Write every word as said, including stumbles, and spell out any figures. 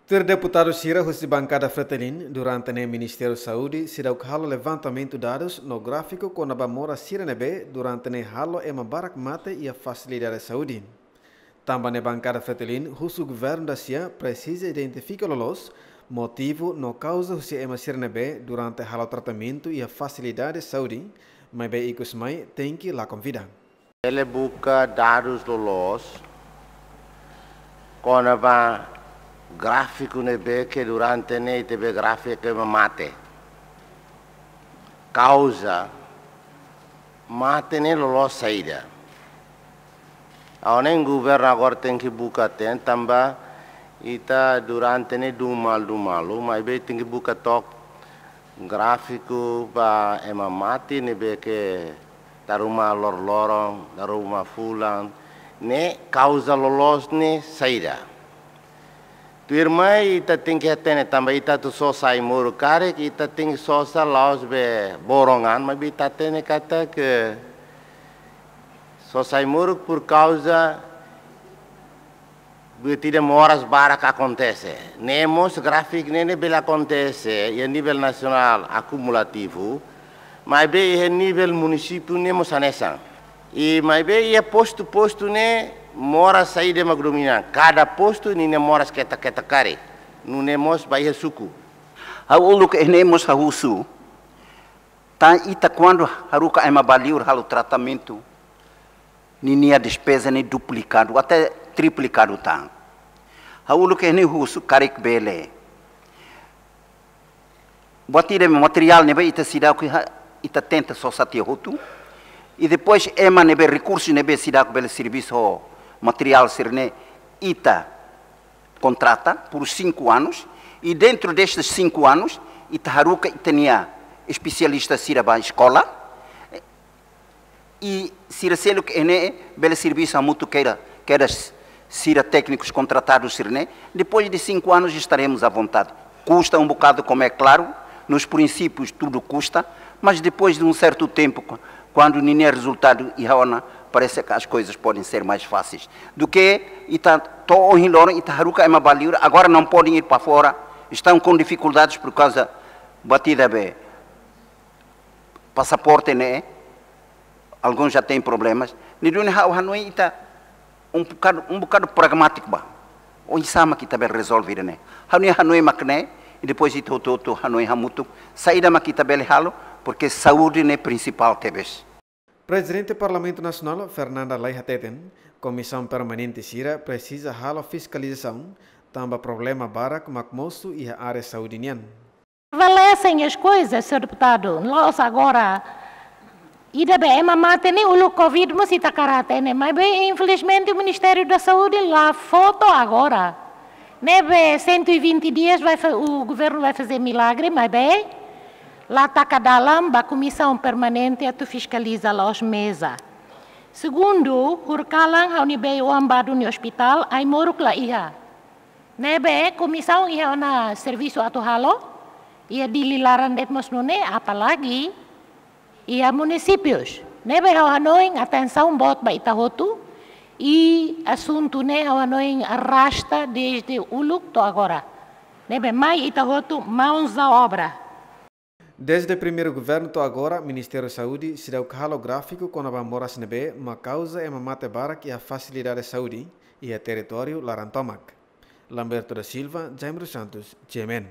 Tuir deputadu sira husi bankada Fretilin, durante ne'e Ministériu Saúde seidauk halo levantamentu dadus no gráfiku kona-ba moras sira ne'ebé durante ne'e halo ema barak mate iha fasilidade saúde. Tanba ne'e bankada Fretilin husu governu da-sia presiza identifika loloos motivu no kauza husi ema sira ne'ebé durante halo tratamentu iha fasilidade saúde, maibé ikus mai tenke lakon vida. Bele buka dadus loloos kona-ba gráfiku ne'ebé ke durante ne'e ita bele gráfiku ema mate. Kauza mate ne'e loloos saida. Ha'u hanoin governu agora tenke buka ten tanba ita durante ne'e dun malu, dun malu, maibé tenke buka took gráfiku ba ema mate ne'ebé ke dala ruma loroloron, dala ruma fulan, ne'e kauza loloos ne'e saida. Tuirmai ita tenke hatene tanba ita atu sosa ai-moruk karik, ita tenke sosa la'ós be borongan, maibé ita hatene katak sosa ai-moruk por kauza buat ida moras barak akontese. Ne'e mós gráfiku ne'e, ne'e bele akontese iha nivel nasionál akumulativu, maibé iha nivel munisípiu ne'e mós hanesan. I maibé iha postu-postu ne'e moras saida mak domina. Kada postu ninia moras ketak-ketak karik. Nune'e mós ba iha suku. Ha'u uluk ne'e mós ha'u husu. Tan ita kuandu haruka ema ba liur halo tratamentu, ninia despeza ne'e duplikadu até triplikadu tan. Ha'u uluk ne'e husu karik bele. Buat ida materiál ne'ebé ita seidauk iha, ita tenta sosa tiha hotu. I depois ema ne'ebé rekursu ne'ebé seidauk bele servisu ho materiál sira-ne'e ita kontrata por cinco anos, e dentro destes cinco anos, ita haruka ita-nia espesialista sira ba eskola, i sira seluk ne'e bele servisu hamutuk kedas, kedas sira téknikus kontratadus sira-ne'e. Depois de cinco anos estaremos à vontade. Custa um bocado, como é claro, nos princípios tudo custa, mas depois de um certo tempo, cu-, quando ninia rezultadu iha ona, parece que as coisas podem ser mais fáceis do que ita to'o ohin loron ita haruka ema ba liur, agora não podem ir para fora, estão com dificuldades por causa buat ida be passaporte ne'e, alguns já têm problemas. Ne'e duni ha'u hanoin ita um bocado, um bocado pragmátiku ba. Oinsá mak ita bele rezolve ida-ne'e. Ha'u-nia hanoin mak ne'e, i depois ita hotu-hotu hanoin hamutuk saida mak ita bele halo, porque saúde ne'e prinsipál tebes. Prezidente Parlamentu Nasionál, Fernanda Lay hateten, komisaun permanente sira presiza halo fiskalizasaun, tanba problema barak mak mosu iha área saúde nian. Prevalecem as coisas, senhor deputado. La'ós agora, ida be ema mate ne'e uluk covid mós ita hakarak hatene, maibé infelizmente o Ministério da Saúde la fó to'o agora. Ne'ebé cento e vinte dias vai fa-, o governo vai fazer milagre, maibé la taka dalan ba komisaun permanente atu fiskaliza la'ós meza. Segundu, horikalan ha'u-nia bei-oan ba duni ospitál, ai-moruk la iha. Ne'ebé komisaun iha ona servisu atu halo, iha Dili laran de'it mós nune'e, apalagi iha munisípius. Ne'ebé ha'u hanoin atensaun boot ba ita hotu, i asuntu ne'e ha'u hanoin arrasta desde uluk to'o agora. Ne'ebé mai ita hotu mãos à obra. Desde primeiru governu to'o agora, Ministériu Saúde seidauk halo gráfiku kona-ba moras ne'ebé mak kauza ema mate barak iha fasilidade saúde iha territóriu laran tomak. Lamberto da Silva, Jaime dos Santos, G M N.